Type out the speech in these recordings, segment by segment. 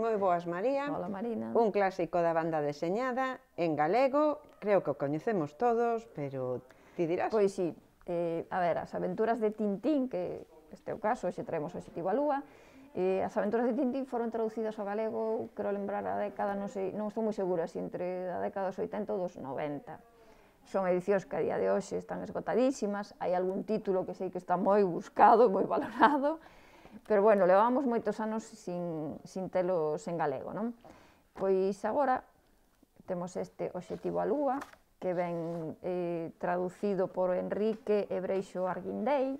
moi boas, María. Hola, Marina. Un clásico da banda deseñada, en galego, creo que o coñecemos todos, pero ti dirás? Pois sí, a ver, as aventuras de Tintín, que este é o caso, hoxe traemos o Obxectivo á Lúa, as aventuras de Tintín foron traducidas ao galego, quero lembrar a década, non sei, non estou moi segura, se entre a década dos 80 ou dos 90. Son edicións que a día de hoxe están esgotadísimas, hai algún título que sei que está moi buscado, moi valorado, pero bueno, levamos moitos anos sin telos en galego, non? Pois agora temos este Obxectivo á Lúa, que ven traducido por Enrique Ebreixo Arguindei.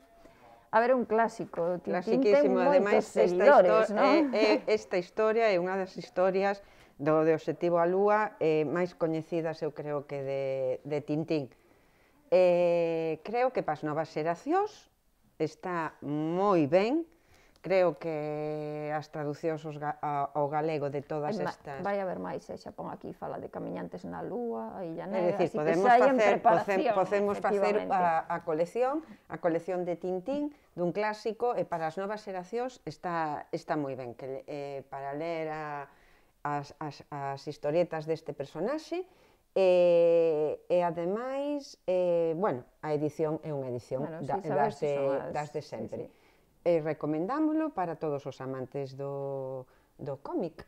A ver, é un clásico, Tintín ten moitos seguidores, non? Esta historia é unha das historias do de Obxectivo á Lúa máis coñecidas, eu creo que de Tintín. Creo que para as novas xeracións está moi ben. Creo que as traducións ao galego de todas estas... Vai haber máis, xa pon aquí, fala de Camiñantes na Lúa, a Illa É Negra, dicir, podemos facer a colección de Tintín dun clásico e para as novas xeracións está moi ben, para ler as historietas deste personaxe e ademais, bueno, a edición é unha edición das de sempre. Recomendámoslo para todos os amantes do cómic,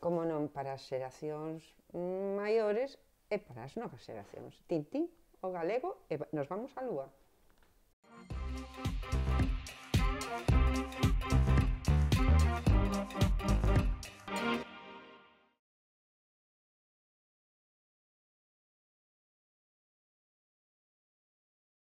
como non para as xeracións maiores e para as novas xeracións. Tintín, o galego, e nos vamos á Lúa.